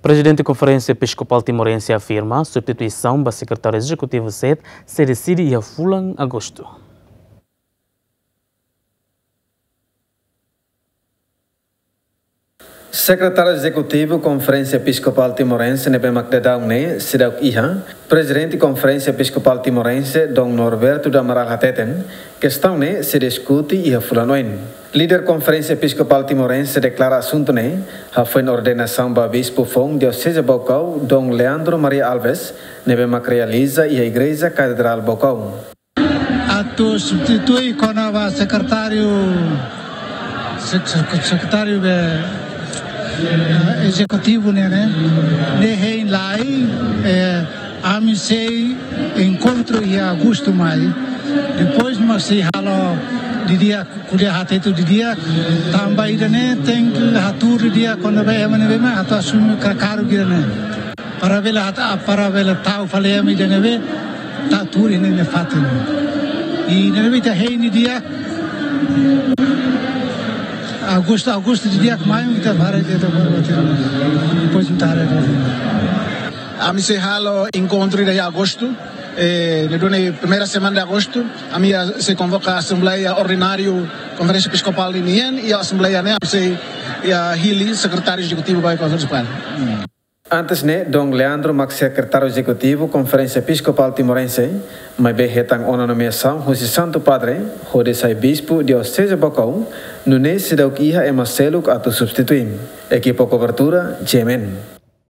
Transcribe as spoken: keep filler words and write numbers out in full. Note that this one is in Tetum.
Prezidente Konferénsia Episkopál Timorense afirma substituisaun ba Sekretáriu Ezekutivu sete sei deside iha fulan Agostu. Sekretáriu Ezekutivu Konferénsia Episkopál Timorense ne'ebé mak daudaun ne'e seidauk iha, Prezidente Konferénsia Episkopál Timorense, Dom Norberto do Amaral hateten, kestaun ne'e sei diskute iha fulan oin. Líder Konferénsia Episkopál Timorense deklara asuntu ne'e hafoin ordenasaun ba Bispu foun Dioseze Baucau, Dom Leandro Maria Alves, ne'ebé mak realiza iha Igreja Katedrál Baucau. Atu substitui kona-ba sekretáriu, sek-, sek-, sekretáriu be, eh, ezekutivu ne'e, ne'e, ne'e hein lai, eh, ami sei enkontru iha Agostu mai. Depois mak sei halo didi'ak, ko'alia hateten didi'ak, tanba ida-ne'e tenke hatuur didi'ak kona-ba ema ne'ebé mak atu asume ka-, kargu ida-ne'e. Para bele hata, para bele tau fali ema ida ne'ebé atu tuur iha ne'e fatin. I ne'ebé ita hein didi'ak Agostu, Agostu didi'ak mai ita para ita para batin. Depois ita haree. Ami sei halo enkontru iha Agostu, eh, ne'e duni primeira semana de Agostu, ami sei konvoka asembleia ordináriu Konferénsia Episkopál nian, i asembleia ne'e ami sei, eh, hili sekretáriu ezekutivu ba Konferénsia Episkopál. Antes ne'e, Dom Leandro mak sekretáriu ezekutivu Konferénsia Episkopál Timorense, maibé hetan ona nomeasaun husi Santu Padre, hodi sai bispu Dioseze Baucau, nune'e seidauk iha ema seluk atu substitui. Ekipa kobertura, G M N.